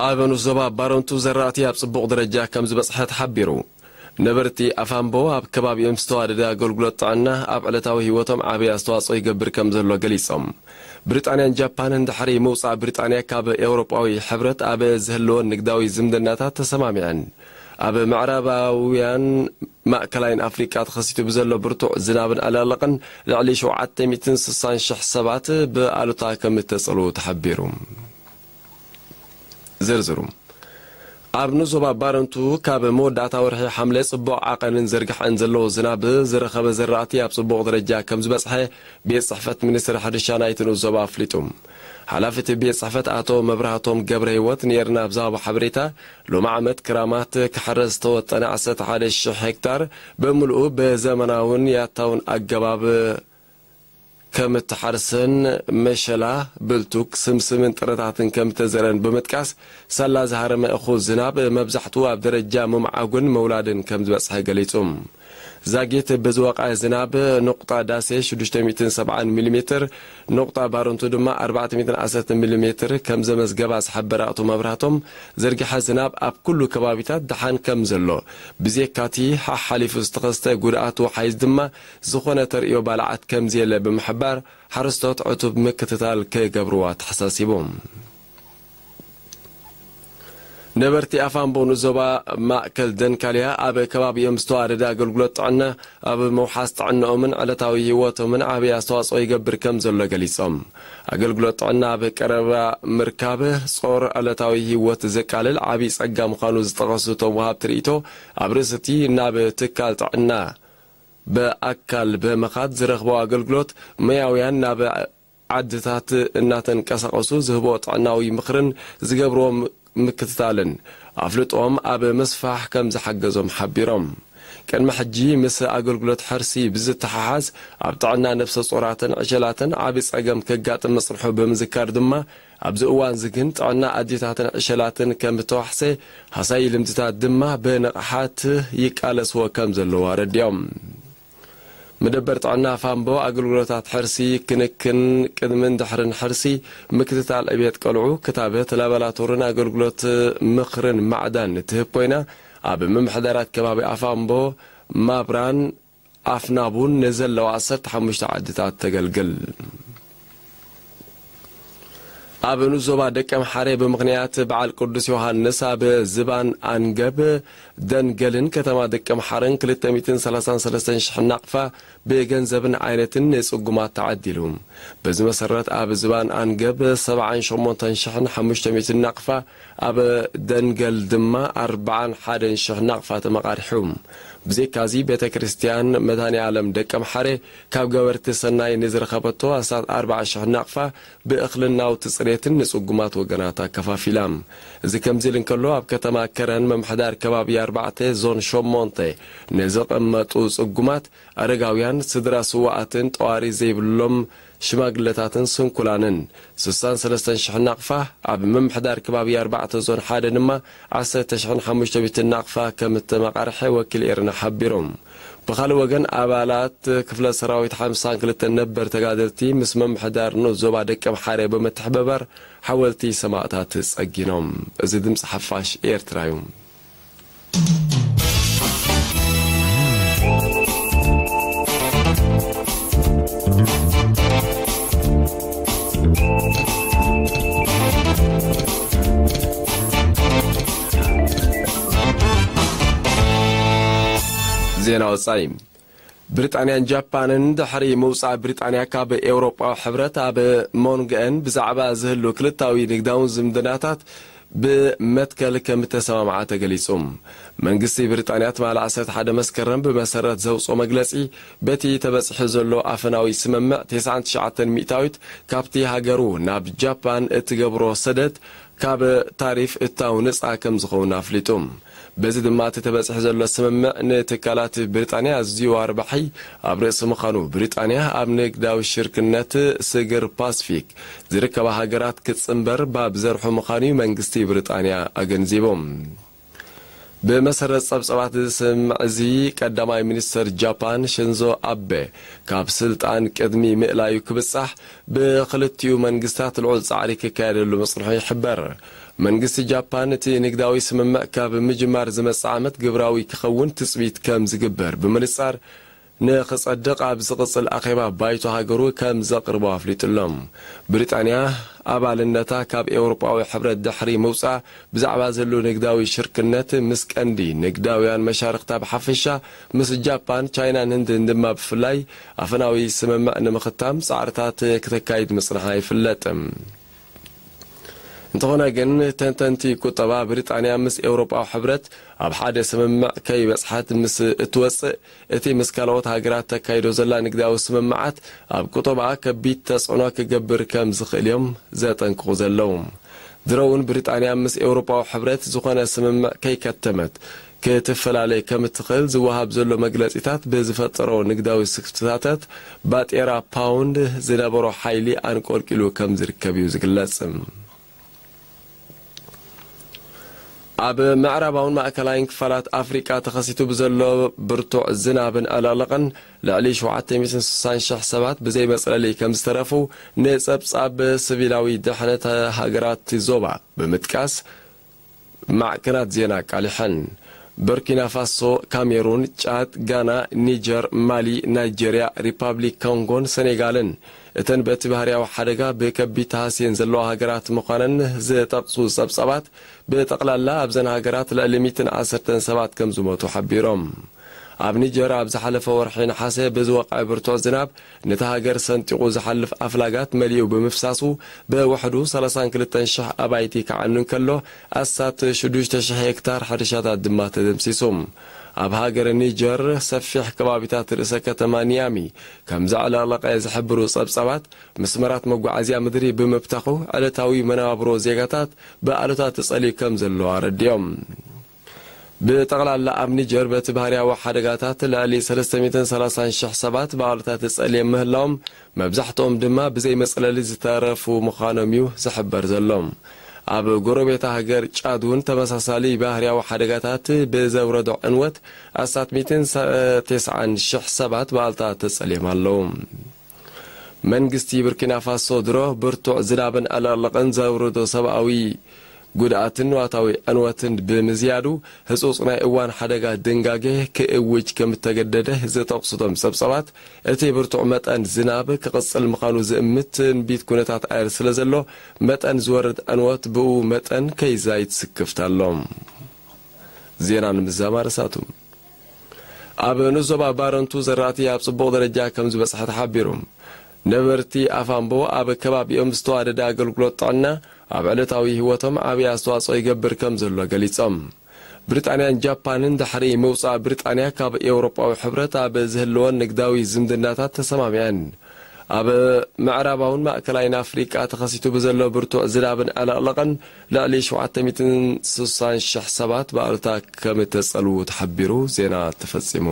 ኣብ ንዞባ ባረንቱ ዘራእቲ ኣብ ጽቡቕ ደረጃ ከም ዝበጽሐ ተሓቢሩ። ነበርቲ ኣፋምቦ ኣብ ከባቢኦም ዝተዋደደ ኣገልግሎት ጥዕና ኣብ ዕለታዊ ህይወቶም ዓቢ ኣስተዋጽኦ ይገብር ከም ዘሎ ገሊጾም። ብሪጣንያን ጃፓንን ድሕሪ ምውጻእ ብሪጣንያ ካብ ኤውሮጳዊ ሕብረት ኣብ ዝህልወን ንግዳዊ ዝምድናታት ተሰማሚዐን። ኣብ ምዕራባውያን ማእከላይን ኣፍሪቃ ተኸሲቱ ብዘሎ ብርቱዕ ዝናብን ኣላልቕን ልዕሊ ሸውዓተ ሚእትን ስሳን ሽሕ ሰባት ብኣሉታ ከም እተጸልዉ ተሓቢሩ። ዝርዝሩ። ኣብ ንዞባ ባረንቱ ካብ መወዳእታ ወርሒ ሓምለ ጽቡቕ ዓቐንን ዝርግሐን ዘለዎ ዝናብ ዝረኸበ ዘራእቲ ኣብ ጽቡቕ ደረጃ ከም ዝበጽሐ ቤት ጽሕፈት ሚኒስትሪ ሕርሻ ናይቲ ንኡስ ዞባ ኣፍሊጡ። ሓላፊ እቲ ቤት ጽሕፈት ኣቶ መብራህቶም ገብረ ህይወት ንኤርና ኣብ ዝሃቦ ሓበሬታ፣ ሎሚ ዓመት ክራማት ክሕረስ ዝተወጠነ ዓሰርተ ሓደ ሽሕ ሄክታር ብምልኡ ብዘመናውን ያታውን ኣገባብ ከም እተሓርሰን መሸላ፣ ብልቱክ፣ ስምስምን ጥረታትን ከም እተዘረን ብምጥቃስ፣ ሳላ ዝሃረመ እኹል ዝናብ መብዛሕትኡ ኣብ ደረጃ ምምዓጉን ምውላድን ከም ዝበጽሐ ገሊጹ። ዛጊት ብዝወቐዐ ዝናብ ኑቕጣ ዳሴ ሽዱሽተ ሚእትን ሰብዓን ሚሊ ሜትር፣ ኑቕጣ ባረንቱ ድማ ኣርባዕተ ሚእትን ዓሰርተ ሚሊ ሜትር ከም ዘመዝገባ ዝሓበረ ኣቶ መብራህቶም፣ ዝርግሐ ዝናብ ኣብ ኩሉ ከባቢታት ደሓን ከም ዘሎ፣ ብዜካቲ ሓሓሊፉ ዝተኸስተ ጉድኣት ወሓይዝ ድማ ዝኾነ ተርእዮ ባልዓት ከም ዘየለ ብምሕባር፣ ሓረስቶት ዕቱብ ምክትታል ክገብርዎ ኣተሓሳሲቡ። ነበርቲ ኣፋምቦ ንዞባ ማእከል ደንካልያ ኣብ ከባቢኦም ዝተዋደደ ኣገልግሎት ጥዕና ኣብ ምውሓስ ጥዕንኦምን ዕለታዊ ህይወቶምን ዓቢ ኣስተዋጽኦ ይገብር ከም ዘሎ ገሊጾም። ኣገልግሎት ጥዕና ኣብ ቀረባ ምርካብ ጾር ዕለታዊ ህይወት ዘቃልል ዓቢ ጸጋ ምዃኑ ዝጠቐሱ እቶም ወሃብቲ ርእይቶ፣ ኣብ ርእሲ እቲ ናብ ትካል ጥዕና ብኣካል ብምኻድ ዝረኽቦ ኣገልግሎት፣ ሞያውያን ናብ ዓድታት እናተንቀሳቐሱ ዝህቦ ጥዕናዊ ምኽርን ዝገብርዎ ም-፣ ምክትታልን ኣፍልጦም ኣብ ምስፋሕ ከም ዝሓገዞም ሓቢሮም። ቅድሚ ሕጂ ምስ ኣገልግሎት ሕርሲ ብዝተሓሓዝ፣ ኣብ ጥዕና ነፍሰ ጾራትን ዕሸላትን ዓቢ ጸገም ከጋጥም ምጽንሑ ብምዝካር ድማ፣ ኣብዚ እዋንዚ ግን ጥዕና ኣዴታትን ዕሸላትን ከም እተዋሕሰ፣ ሃሳዪ ልምድታት ድማ ብንቕሓት ይቃለስዎ ከም ዘለዉ ኣረዲኦም። መደበር ጥዕና ፋምቦ ኣገልግሎታት ሕርሲ፣ ክንክን ቅድምን ድሕርን ሕርሲ፣ ምክትታል ዕብየት ቆልዑ፣ ክታበት፣ ላቦራቶርን ኣገልግሎት ምኽርን ማዕዳን እትህብ ኮይና፣ ኣብ ምምሕዳራት ከባቢ ኣፋምቦ፣ ማብራን ኣፍናቡን ንዘለዋ ዓሰርተ ሓሙሽተ ዓድታት ተገልግል። ኣብ ንዞባ ደቀምሓረ ብምኽንያት በዓል ቅዱስ ዮሃንስ ኣብ ዝባን ኣንገብ ደንገልን ከተማ ደቀምሓረን ክልተ ሚእትን ሰላሳን ሰለስተን ሽሕ ናቕፋ ብገንዘብን ዓይነትን ንጽጉማት ተዓዲሉ። በዚ መሰረት ኣብ ዝባን ኣንገብ ሰብዓን ሸሞንተን ሽሕን ሓሙሽተ ሚእትን ናቕፋ፣ ኣብ ደንገል ድማ ኣርብዓን ሓደን ሽሕ ናቕፋ ተመቓሪሑ። ብዘይካዚ ቤተ ክርስቲያን መድኃኔ ዓለም ደቀምሓረ ካብ ገበርቲ ሰናይ ንዝረኸበቶ ኣስታት ኣርብዓ ሽሕ ናቕፋ ብእኽልን ናውቲ ጽሬትን ንጽጉማት ወገናት ኣከፋፊላ። እዚ ከምዚ ኢሉ እንከሎ፣ ኣብ ከተማ ከረን ምምሕዳር ከባቢ ኣርባዕተ ዞን ሸሞንተ ንዝቕመጡ ጽጉማት፣ ኣረጋውያን፣ ስድራ ስዋኣትን ጠዋሪ ዘይብሎም ሽማግለታትን ስንኩላንን ስሳን ሰለስተን ሽሕ ናቕፋ፣ ኣብ ምምሕዳር ከባቢ ኣርባዕተ ዞን ሓደ ድማ ዓሰርተ ሽሕን ሓሙሽተ ሚእትን ናቕፋ ከም እተመቓርሐ ወኪል ኤርና ሓቢሮም። ብኻልእ ወገን፣ ኣባላት ክፍለ ሰራዊት ሓምሳን ክልተን ነበር ተጋደልቲ ምስ ምምሕዳር ንኡስ ዞባ ደቀምሓረ ብምትሕብባር ሓወልቲ ሰማእታት ጸጊኖም። እዚ ድምጺ ሓፋሽ ኤርትራ እዩ። ዜና ወጻኢ። ብሪጣንያን ጃፓንን ድሕሪ ምውጻእ ብሪጣንያ ካብ ኤውሮጳዊ ሕብረት፣ ኣብ መንጎአን ብዛዕባ ዝህሉ ክልታዊ ንግዳውን ዝምድናታት ብመትከል ከም እተሰማምዓ ተገሊጹ። መንግስቲ ብሪጣንያ ትማሊ ዓሰርተ ሓደ መስከረም ብመሰረት ዘውጽኦ መግለጺ፣ በቲ ተበጺሑ ዘሎ ኣፈናዊ ስምምዕ፣ ተስዓን ትሽዓተን ሚእታዊት ካብቲ ሃገሩ ናብ ጃፓን እትገብሮ ሰደድ ካብ ታሪፍ እታው ነጻ ከም ዝኸውን ኣፍሊጡ። በዚ ድማ እቲ ተበጺሑ ዘሎ ስምምዕ ንትካላት ብሪጣንያ ኣዝዩ ኣርባሒ ኣብ ርእሲ ምዃኑ፣ ብሪጣንያ ኣብ ንግዳዊ ሽርክነት ስግር ፓስፊክ ዝርከባ ሃገራት ክትጽንበር ባብ ዘርሑ ምዃኑ እዩ መንግስቲ ብሪጣንያ ኣገንዚቡ። ብመሰረት ጸብጸባት እዚ ስምምዕ እዚ፣ ቀዳማይ ሚኒስተር ጃፓን ሽንዞ ኣቤ ካብ ስልጣን ቅድሚ ምእላዩ ክብጻሕ፣ ብኽልቲኡ መንግስታት ልዑል ጻዕሪ ክካየደሉ ምጽንሑ ይሕበር። መንግስቲ ጃፓን፣ እቲ ንግዳዊ ስምምዕ ካብ ምጅማር ዝመጽእ ዓመት ግብራዊ ክኸውን ትጽቢት ከም ዝግበር ብምንጻር፣ ንኽጸድቕ ኣብ ዝቕጽል ኣኼባ ባይቶ ሃገሩ ከም ዘቕርቦ ኣፍሊጡ ኣሎ። ብሪጣንያ፣ ኣባልነታ ካብ ኤውሮጳዊ ሕብረት ድሕሪ ምውጻእ፣ ብዛዕባ ዘሎ ንግዳዊ ሽርክነት ምስ ቀንዲ ንግዳውያን መሻርኽታ ብሓፈሻ፣ ምስ ጃፓን፣ ቻይናን ህንድን ድማ ብፍላይ፣ ኣፈናዊ ስምምዕ ንምኽታም ጻዕርታት ክተካይድ ምጽንሓ ይፍለጥ። እንተኾነ ግን፣ ተንተንቲ ቁጠባ፣ ብሪጣንያ ምስ ኤውሮጳዊ ሕብረት ኣብ ሓደ ስምምዕ ከይበጽሐት ምስ እትወጽእ፣ እቲ ምስ ካልኦት ሃገራት ተካይዶ ዘላ ንግዳዊ ስምምዓት ኣብ ቁጠባኣ ከቢድ ተጽዕኖ ክገብር ከም ዝኽእል እዮም ዘጠንቅቑ ዘለዉ። ድሮ እውን ብሪጣንያ ምስ ኤውሮጳዊ ሕብረት ዝኾነ ስምምዕ ከይከተመት ክትፈላለ ከም እትኽእል ዝወሃብ ዘሎ መግለጺታት ብዝፈጠሮ ንግዳዊ ስክፍታታት፣ ባጤራ ፓውንድ ዝነበሮ ሓይሊ ኣንቆልቂሉ ከም ዝርከብ እዩ ዝግለጽ። ኣብ ምዕራባውን ማእከላይን ክፋላት ኣፍሪቃ ተኸሲቱ ብዘሎ ብርቱዕ ዝናብን ዕልቕልቕን፣ ልዕሊ ሸውዓተ ሚእትን ስሳን ሽሕ ሰባት ብዘይ መጽለሊ ከም ዝተረፉ፣ ንጸብጻብ ሲቪላዊ ድሕነት ሃገራት ዞባ ብምጥቃስ፣ ማዕከናት ዜና ኣቃሊሐን። ቡርኪና ፋሶ፣ ካሜሩን፣ ጫድ፣ ጋና፣ ኒጀር፣ ማሊ፣ ናይጄርያ፣ ሪፓብሊክ ኮንጎን ሰኔጋልን፣ እተን በቲ ባህርያዊ ሓደጋ ብከቢድ ተሃስየን ዘለዋ ሃገራት ምዃነን ዝጠቕሱ ጸብጻባት፣ ብጠቕላላ ኣብዘን ሃገራት ልዕሊ ሚእትን ዓሰርተን ሰባት ከም ዝሞቱ ሓቢሮም። ኣብ ኒጀር፣ ኣብ ዝሓለፈ ወርሒ ነሓሰ ብዝወቕዐ ብርቱዕ ዝናብ፣ ነታ ሃገር ሰንጢቑ ዝሓልፍ ኣፍላጋት መሊኡ ብምፍሳሱ፣ ብውሕዱ ሰላሳን ክልተን ሽሕ ኣባይቲ ክዓኑ እንከሎ፣ ኣስታት ሽዱሽተ ሽሕ ሄክታር ሕርሻታት ድማ ተደምሲሱ። ኣብ ሃገር ኒጀር፣ ሰፊሕ ከባቢታት ርእሰ ከተማ ኒያሚ ከም ዘዕለቕለቐ ዝሕብሩ ጸብጻባት፣ መስመራት መጓዓዝያ ምድሪ ብምብታኹ፣ ዕለታዊ መነባብሮ ዜጋታት ብኣሉታ ተጸልዩ ከም ዘሎ ኣረዲኦም። ብጠቕላላ ኣብ ኒጀር፣ በቲ ባህርያዊ ሓደጋታት ልዕሊ ሰለስተ ሚእትን ሰላሳን ሽሕ ሰባት ብኣሉታ ተጸልዮም ምህላዎም፣ መብዛሕትኦም ድማ ብዘይ መጽለሊ ዝተረፉ ምዃኖም እዩ ዝሕበር ዘሎ። ኣብ ጎረቤታ ሃገር ጫድ እውን ተመሳሳሊ ባህርያዊ ሓደጋታት ብዘውረዶ ዕንወት፣ ኣስታት ሚእትን ተስዓን ሽሕ ሰባት ብኣሉታ ተጸልዮም ኣለዉ። መንግስቲ ቡርኪና ፋሶ፣ ድሮ ብርቱዕ ዝናብን ዕልቕልቕን ዘውረዶ ሰብኣዊ ጉድኣትን ንዋታዊ ዕንወትን ብምዝያዱ፣ ህጹጽ ናይ እዋን ሓደጋ ድንጋጌ ክእውጅ ከም እተገደደ ዝጠቕሱ እቶም ጸብጻባት፣ እቲ ብርቱዕ መጠን ዝናብ ክቕጽል ምዃኑ ዝእምት ትንቢት ኩነታት ኣየር ስለ ዘሎ፣ መጠን ዝወርድ ዕንወት ብኡ መጠን ከይዛይድ ስክፍታ ኣሎ። ዜና ንምዝዛም ኣርእስታቱ። ኣብ ንዞባ ባረንቱ ዘራእቲ ኣብ ጽቡቕ ደረጃ ከም ዝበጽሐ ተሓቢሩ። ነበርቲ ኣፋምቦ፣ ኣብ ከባቢኦም ዝተዋደደ ኣገልግሎት ጥዕና ኣብ ዕለታዊ ህይወቶም ዓብዪ ኣስተዋጽኦ ይገብር ከም ዘሎ ገሊጾም። ብሪጣንያን ጃፓንን ድሕሪ ምውጻእ ብሪጣንያ ካብ ኤውሮጳዊ ሕብረት ኣብ ዝህልወን ንግዳዊ ዝምድናታት ተሰማሚዐን። ኣብ ምዕራባውን ማእከላይን ኣፍሪቃ ተኸሲቱ ብዘሎ ብርቱዕ ዝናብን ዕለቕለቕን፣ ልዕሊ ሸውዓተ ሚእትን ስሳን ሽሕ ሰባት ብኣሉታ ከም እተጸልዉ ተሓቢሩ። ዜና ተፈጺሙ።